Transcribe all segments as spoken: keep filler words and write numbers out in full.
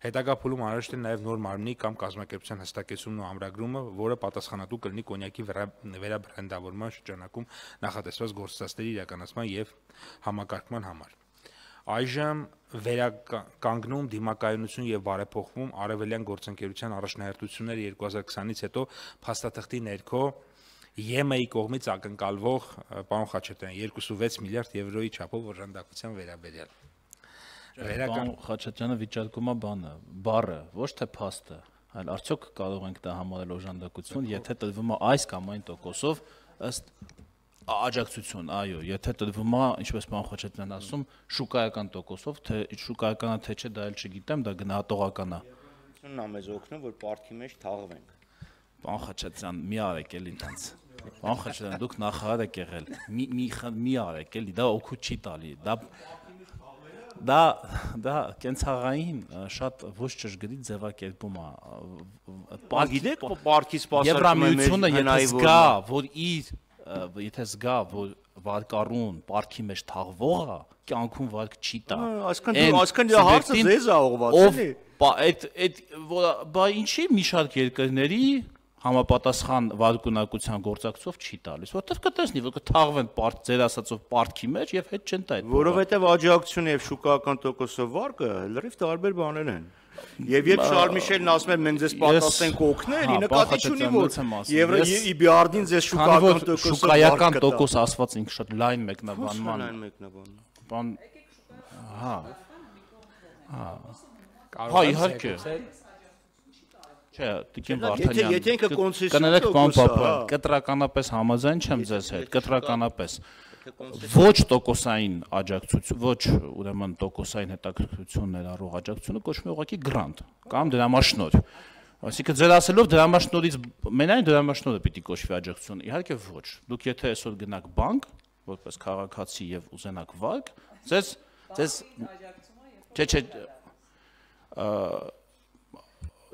Հետագա փուլում անհրաժեշտ է նաև նոր մարմնի կամ կազմակերպության հստակեցումն ու ամրագրումը, որը պատասխանատու կլինի կոնյակի վերաբրենդավորման շրջանակում նախատեսված գործընթացների իրականացման եւ համակարգման համար։ Այժմ վերականգնում դիմակայունություն եւ բարեփոխվում արևելյան գործընկերության առաջնահերթությունները երկու հազար քսանից հետո փաստաթղթի ներքո ԵՄ-ի կողմից ակնկալվող պարոն Խաչատրյան երկուսուվեց միլիարդ եվրոյի չափով օժանդակության վերաբերյալ։ Պարոն Խաչատրյանը վիճարկում է բանը, բառը, ոչ թե փաստը, այլ արդյոք կարող ենք դա համարել օժանդակություն, եթե տրվում է այս կամ այն տոկոսով ըստ աջակցություն, այո, եթե տրվում է, ինչպես պարոն Խաչատրյանն ասում, շուկայական տոկոսով, թե շուկայական է թե չէ, դա էլ չգիտեմ, դա գնահատողական է։ Նա մեզ օգնում, որ պարտքի մեջ թաղվենք։ Պարոն Խաչատրյան, մի արեք էլի տենց։ Պարոն Խաչատրյան, դուք նախարար եք եղել, մի արեք էլի, դա օգուտ չի տալի, դա Դա դա կենցաղային շատ ոչ ճշգրիտ ձևակերպում է։ Գիտեք, պարտքի սպասարկում Եվրամիությունը եթե զգա, որ իր եթե զգա, որ վարկառուն պարտքի մեջ թաղվող է, կյանքում վարկ չի տա։ Այսքան այսքան հարցը ձեզ է ուղղված, էլի։ Այդ այդ բա ինչի մի շարք երկրների համապատասխան վարկունակության գործակցով չի տալիս, որտեղ կտեսնի, որ կթաղվեն ձեր ասածով պարտքի մեջ եւ հետ չեն տա այդ։ Որովհետեւ աջակցությունը եւ շուկայական տոկոսով վարկը լրիվ տարբեր բաներ են։ Եվ երբ Շարլ Միշելն ասում է մենք ձեզ պատասխանենք օգնել, ի նկատի չունի որ Եվրոիբիարդին ձեզ շուկայական տոկոսով շուկայական տոկոս ասված ինքը շատ լայն մեկնաբանման։ Լայն մեկնաբանն։ Բան հա։ Հա։ Հա իհարկե։ Չէ, Տիկին Վարդանյան, կներեք պարոն Պապյան, կտրականապես համաձայն չեմ ձեզ հետ, կտրականապես ոչ տոկոսային աջակցություն, ոչ ուրեմն տոկոսային հետաքրքրություն ներառող աջակցությունը կոչվում է ուղղակի գրանտ կամ դրամաշնորհ։ Այսինքն ձեր ասելով դրամաշնորհից մենայն դրամաշնորհը պիտի կոչվի աջակցություն, իհարկե ոչ։ Դուք եթե այսօր գնաք բանկ, որպես քաղաքացի եւ ուզենաք վարկ, ձեզ ձեզ չէ չէ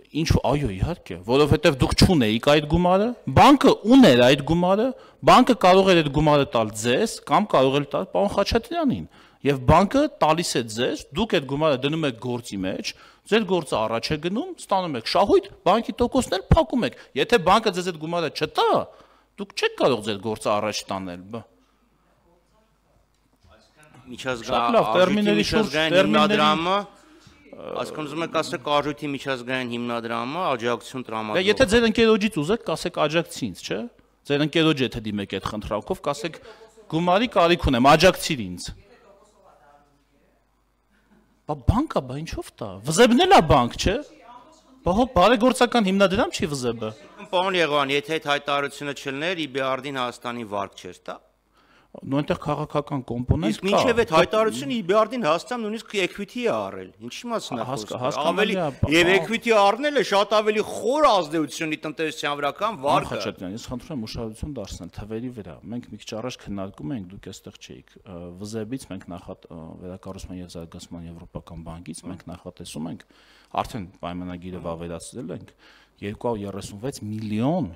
Ինչ այո իհարկե, որովհետև դուք չունեիք այդ գումարը, բանկը ուներ այդ գումարը, բանկը կարող էր այդ գումարը տալ ձեզ կամ կարող էր տալ պարոն Խաչատրյանին, եւ բանկը տալիս է ձեզ, դուք այդ գումարը դնում եք գործի մեջ, ձեր գործը առաջ է գնում, ստանում եք շահույթ, բանկի տոկոսն էլ փակում եք։ Եթե բանկը ձեզ այդ գումարը չտա, դուք չեք կարող ձեր գործը առաջ տանել։ Միջազգային հիմնադրամը Այսքան ուզում եք ասեք արժույթի միջազգային հիմնադրամը աջակցություն տրամադրող։ Եթե ձեր ընկերոջից ուզեք, կասեք աջակցի ինձ, չէ՞։ Ձեր ընկերոջ եթե դիմեք այդ խնդրանքով, կասեք գումարի կարիք ունեմ, աջակցիր ինձ։ Բա բանկա, բա ինչով տա։ Վզեբն էլ է բանկ, չէ։ Բա հո բարեգործական հիմնադրամ չի վզեբը։ Պարոն Եղան, եթե այդ հայտարարությունը չլներ, Իբիարդին Հայաստանի վարկ չէր տա։ Նույն այնտեղ քաղաքական կոմպոնենտ կա։ Իսկ մինչև այդ հայտարարությունը Իբիարդին Հայաստան նույնիսկ equity է առել։ Ինչի մասն է խոսքը։ Ավելի եւ equity առնելը շատ ավելի խոր ազդեցություն ունի տնտեսության վրա կամ վարկը։ Խաչատրյան, ես խնդրում եմ ուշադրություն դարձնել թվերի վրա։ Մենք մի քիչ առաջ քննարկում էինք, դուք այստեղ չէիք։ Վզեբից մենք նախատ վերակառուցման եւ զարգացման եվրոպական բանկից մենք նախատեսում ենք, արդեն պայմանագիրը վավերացրել ենք երկու հարյուր երեսունվեց միլիոն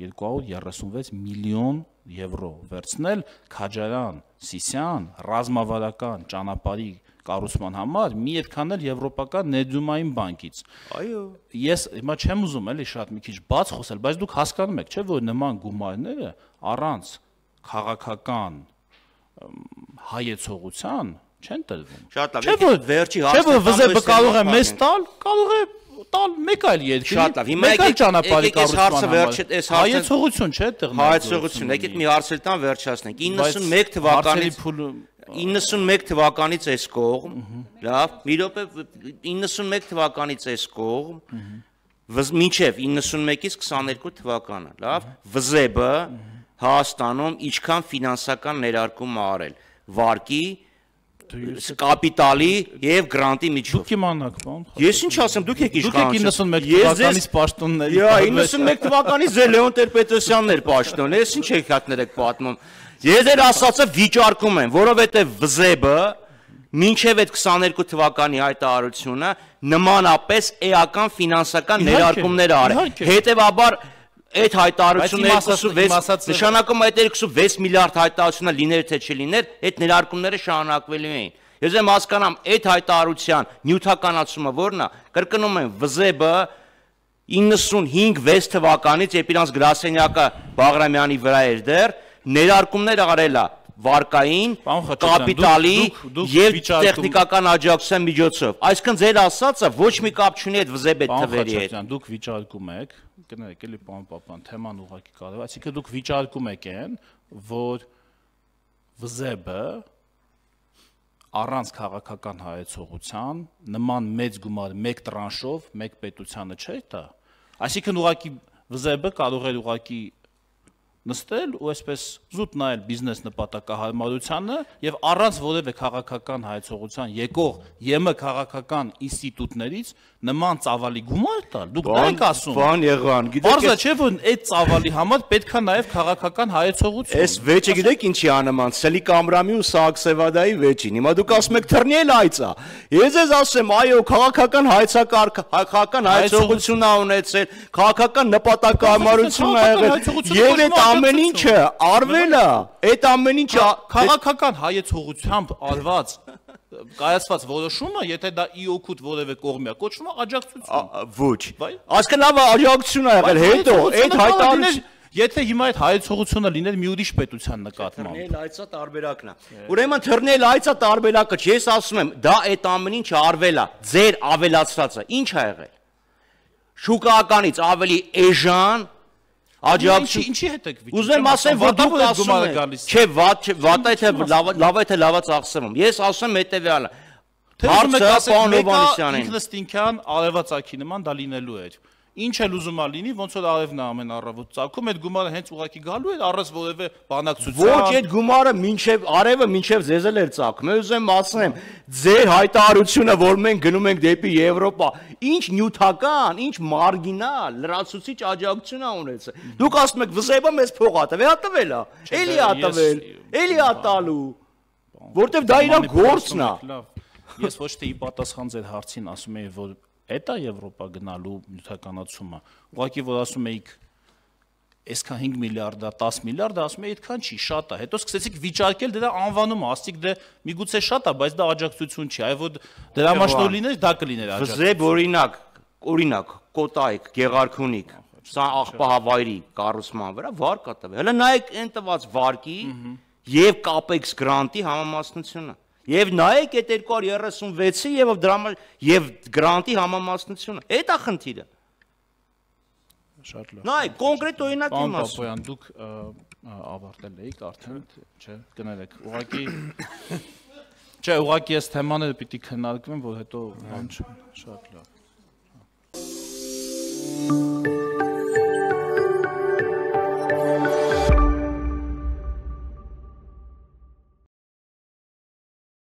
երկու հարյուր երեսունվեց միլիոն եվրո վերցնել Քաջարյան, Սիսյան, ռազմավարական ճանապարհի կառուցման համար մի այդքան էլ եվրոպական ներդրումային բանկից։ Այո։ Ես հիմա չեմ ուզում էլի շատ մի քիչ բաց խոսել, բայց դուք հասկանում եք, չէ՞ որ նման գումարները առանց քաղաքական հայեցողության չեն տրվում։ Շատ լավ։ Չէ՞ որ վերջի հարցը։ Չէ՞ որ վզեբը կարող է մեզ տալ, կարող է տալ մեկ այլ երկրի։ Շատ լավ։ Հիմա եկեք ճանապարհի կառուցման համար։ Հայեցողություն չէ՞ այդտեղ։ Հայեցողություն, եկեք մի հարցել տան վերջացնենք։ իննսունմեկ թվականից իննսունմեկ թվականից այս կողմ, լավ, մի րոպե իննսունմեկ թվականից այս կողմ, մինչև իննսունմեկից քսաներկու թվականը, լավ, վզեբը Հայաստանում ինչքան ֆինանսական ներարկում է արել, վարկի կապիտալի եւ գրանտի միջով։ Դուք իմանաք, բան։ Ես ինչ ասեմ, դուք եք իշխանություն։ Դուք եք իննսունմեկ թվականից պաշտոնների։ Յա, իննսունմեկ թվականից ձեր Լեոն Տեր-Պետրոսյանն էր պաշտոն։ Ես ինչ եք հատներ եք պատմում։ Ես ձեր ասածը վիճարկում եմ, որովհետեւ վզեբը մինչև այդ քսաներկու թվականի հայտարարությունը նմանապես էական ֆինանսական ներարկումներ արել։ Հետևաբար այդ հայտարարությունը նշանակում այդ երկուսուվեց միլիարդ հայտարարությունը լիներ թե չլիներ, այդ ներարկումները շարունակվելու էին։ Ես եմ հասկանամ այդ հայտարարության նյութականացումը որն է, կրկնում եմ վզեբը իննսունհինգ վեց թվականից երբ իրանց գրասենյակը Բաղրամյանի վրա էր դեռ ներարկումներ արել է վարկային, կապիտալի եւ տեխնիկական աջակցության միջոցով։ Այսինքն ձեր ասածը ոչ մի կապ չունի այդ վզեբ այդ թվերի հետ։ Դուք վիճարկում եք, կներեք էլի պարոն Պապյան, թեման ուղղակի կարևոր, այսինքն դուք վիճարկում եք այն, որ վզեբը առանց քաղաքական հայեցողության նման մեծ գումար մեկ տրանշով մեկ պետությանը չէ՞ տա։ Այսինքն ուղղակի վզեբը կարող է ուղղակի նստել ու այսպես զուտ նայել բիզնես նպատակահարմարությանը եւ առանց որևէ քաղաքական հայեցողության եկող ԵՄ քաղաքական ինստիտուտներից նման ծավալի գումար տալ։ Դուք դա եք ասում։ Բան եղան, գիտեք։ Բարձր չէ որ այդ ծավալի համար պետքա նաեւ քաղաքական հայեցողություն։ Այս վեճը գիտեք ինչի անման, Սելիկ Ամրամի ու Սահակ-Սևադայի վեճին։ Հիմա դուք ասում եք թռնել այծա։ Ես ես ասեմ, այո, քաղաքական հայեցակարգ, քաղաքական հայեցողություն ա ունեցել, քաղաքական նպատակահարմարություն ա եղել։ Եվ այդ ամեն ինչը արվել է, այդ ամեն ինչը քաղաքական հայեցողությամբ արված կայացված որոշումը, եթե դա ի օգուտ որևէ կողմի է, կոչվում է աջակցություն։ Ոչ։ Այսինքն լավ աջակցություն ա եղել, հետո այդ հայտարարություն Եթե հիմա այդ հայեցողությունը լիներ մի ուրիշ պետության նկատմամբ։ Թռնել այծա տարբերակն է։ Ուրեմն թռնել այծա տարբերակը չի, ես ասում եմ, դա այդ ամեն ինչը արվել է, ձեր ավելացրածը, ինչ ա եղել։ Շուկայականից ավելի էժան աջակցություն ինչի հետ եք վիճակում։ Ուզում եմ ասեմ, որ դուք ասում եք, չէ, վատ վատ է թե լավ է թե լավա ծախսվում։ Ես ասում եմ հետեւյալը։ Հարցը պարոն Հովհաննիսյանին։ Ինքնստինքյան արևածագի նման դա լինելու էր։ Ինչ էլ ուզում ա լինի, ոնց որ արևն է ամեն առավոտ ծագում, այդ գումարը հենց ուղակի գալու էր առանց որևէ բանակցության։ Ոչ, այդ գումարը մինչև արևը մինչև ձեզ էլ էր ծագում։ Ես ուզում եմ ասեմ, ձեր հայտարարությունը, որ մենք գնում ենք դեպի Եվրոպա, ինչ նյութական, ինչ մարգինալ, լրացուցիչ աջակցություն ա ունեցել։ Դուք ասում եք, վզեբը մեզ փող ա տվել, ա տվել ա։ Էլի ա տվել, էլի ա տալու։ Որտեվ դա իր գործն ա։ Ես ոչ թե ի պատասխան ձեր հարցին ասում եի, որ Էտա Եվրոպա գնալու նյութականացումը, ուղղակի որ ասում էիք այսքան հինգ միլիարդ է, դես միլիարդ է, ասում էի այդքան չի, շատ է, հետո սկսեցիք վիճարկել դրա անվանումը, ասցիք դե միգուցե շատ է, բայց դա աջակցություն չի, այ որ դրամաշնոր լիներ, դա կլիներ աջակցություն։ Վզեբ օրինակ, օրինակ, Կոտայք, Գեղարքունիք, սա աղբահավայրի կառուցման վրա վարկ ա տվել։ Հələ նայեք այն տված վարկի եւ կապեքս գրանտի համամասնությունը։ Եվ նայեք այդ երկու հարյուր երեսունվեցի եւ դրա եւ գրանտի համամասնությունը։ Այդ է խնդիրը։ Շատ լավ։ Նայեք, կոնկրետ օրինակ եմ ասում։ Պապոյան, դուք ավարտել եք արդեն, չէ, կներեք։ Ուղղակի Չէ, ուղղակի այս թեմաները պիտի քննարկվեն, որ հետո բան չէ։ Շատ լավ։